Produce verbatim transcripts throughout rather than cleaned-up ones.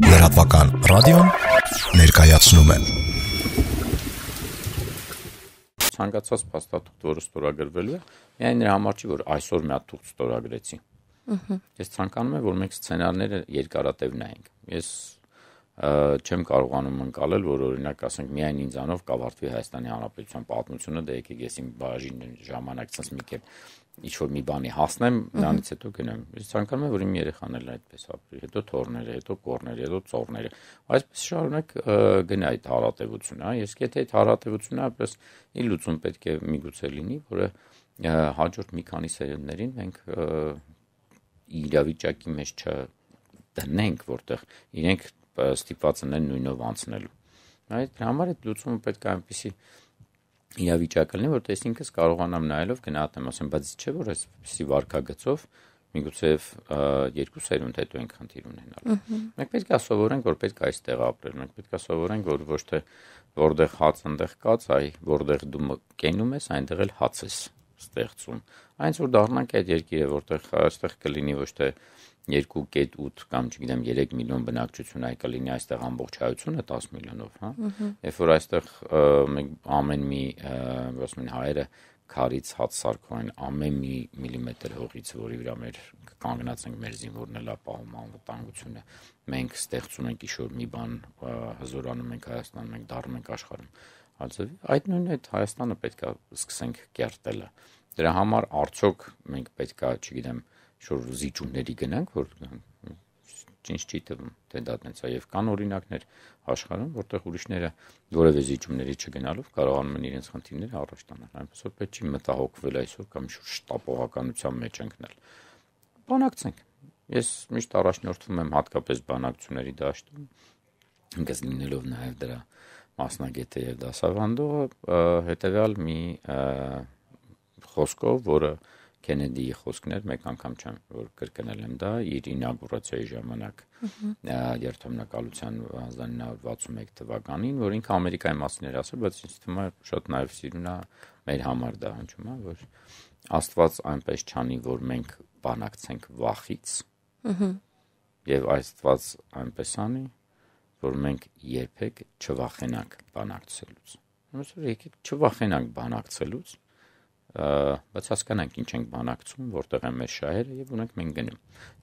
Լրատվական ռադիոն ներկայացնում է ցանկացած փաստաթուղթ, որը ստորագրվելու է, միայն նրա համար չի, որ այսօր մի հատ թուղթ ստորագրեցի։ Ես ցանկանում եմ, որ մենք սցենարները երկարատև նայենք։ Ես չեմ կարողանում ընկալել, որ օրինակ ասենք միայն ինձանով կավարտվի Հայաստանի Հանրապետության պատմությունը, դե եկեք ես իմ բաժին ժամանակ ցած մի կերպ ինչ-որ մի բանի հասնեմ, դրանից հետո գնամ։ Ես ցանկանում եմ, որ իմ երեխաներն այդպես ապրի, հետո թոռները, հետո կոռները, հետո ծոռները։ Այսպես շարունակ գնա այդ հարատևությունը, հա, ես եթե այդ հարատևությունը այպես ի լուծում պետք է միգուցե լինի, որը հաջորդ մի քանի սերունդներին մենք իրավիճակի մեջ չդնենք, որտեղ իրենք ստիպված են նույնով անցնելու։ Այդ համար այդ լուծումը պետք է այնպեսի իրավիճակ լինի, որտեղ ես ինքս կարողանամ նայելով գնահատեմ, ասեմ, բայց չէ՞ որ այսպեսի վարքագծով միգուցե երկու սերունդ հետո ենք խնդիր ունենալու։ Մենք պետք է սովորենք, որ պետք է այստեղ ապրել, մենք պետք է սովորենք, որ ոչ թե որտեղ հաց այնտեղ կաց, այ որտեղ դու կենում ես, այնտեղ էլ հաց ես ստեղծում։ Այնց որ դառնանք այդ երկիրը, որտեղ այստեղ կլինի ոչ թե երկու կետ ութ կամ չգիտեմ երեք միլիոն բնակչություն, այլ կլինի այստեղ ամբողջ հայությունը տաս միլիոնով, հա։ Երբ որ այստեղ մենք ամեն մի, ասում են հայերը, քարից հաց սարքային ամեն մի միլիմետր հողից, որի վրա մեր կանգնած ենք մեր զինվորն էլ ապահովում անվտանգությունը, մենք ստեղծում ենք ինչ-որ մի բան, հզորանում ենք Հայաստանում, մենք դառնում ենք աշխարհում։ Այդ նույնն այդ Հայաստանը պետք է սկսենք կերտելը։ Դրա համար արդյոք մենք պետք է, չգիտեմ, շուտ զիջումների գնանք, որ ինչ չի թվում, թե դա տենց է, եւ կան օրինակներ աշխարհում, որտեղ ուրիշները որևէ զիջումների չգնալով կարողանում են իրենց խնդիրները առաջ տանել։ Այնպես որ պետք չի մտահոգվել այսօր կամ շուտ շտապողականության մեջ ընկնել։ Բանակցենք։ Ես միշտ առաջնորդվում եմ հատկապես բանակցությունների դաշտում, ինքս լինելով նաեւ դրա մասնագետը եւ դասավանդողը, հետեւյալ մի խոսքով, որը Քենեդիի խոսքն էր, մեկ անգամ չեմ որ կրկնել եմ դա իր ինագուրացիայի ժամանակ երթամնակալության հազար ինը հարյուր վաթսունմեկ թվականին, որ ինքը Ամերիկայի մասին էր ասել, բայց ինձ թվում է շատ նաև սիրուն է մեր համար դա հնչում է, որ Աստված այնպես չանի, որ մենք բանակցենք վախից, եւ Աստված այնպես անի, որ մենք երբեք չվախենանք բանակցելուց։ Ոնց որ եկեք չվախենանք բանակցելուց, բայց հասկանանք ինչ ենք բանակցում, որտեղ են մեր շահերը եւ ունենք մենք գնում։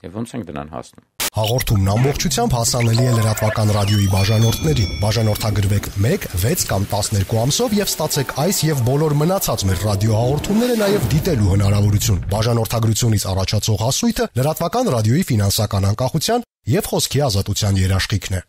Եվ ոնց ենք դրան հասնում։ Հաղորդումն ամբողջությամբ հասանելի է լրատվական ռադիոյի բաժանորդներին։ Բաժանորդագրվեք մեկ, վեց կամ տասներկու ամսով եւ ստացեք այս եւ բոլոր մնացած մեր ռադիոհաղորդումները նաեւ դիտելու հնարավորություն։ Բաժանորդագրությունից առաջացող հասույթը լրատվական ռադիոյի ֆինանսական անկախության եւ խոսքի ազատության երաշխիքն է։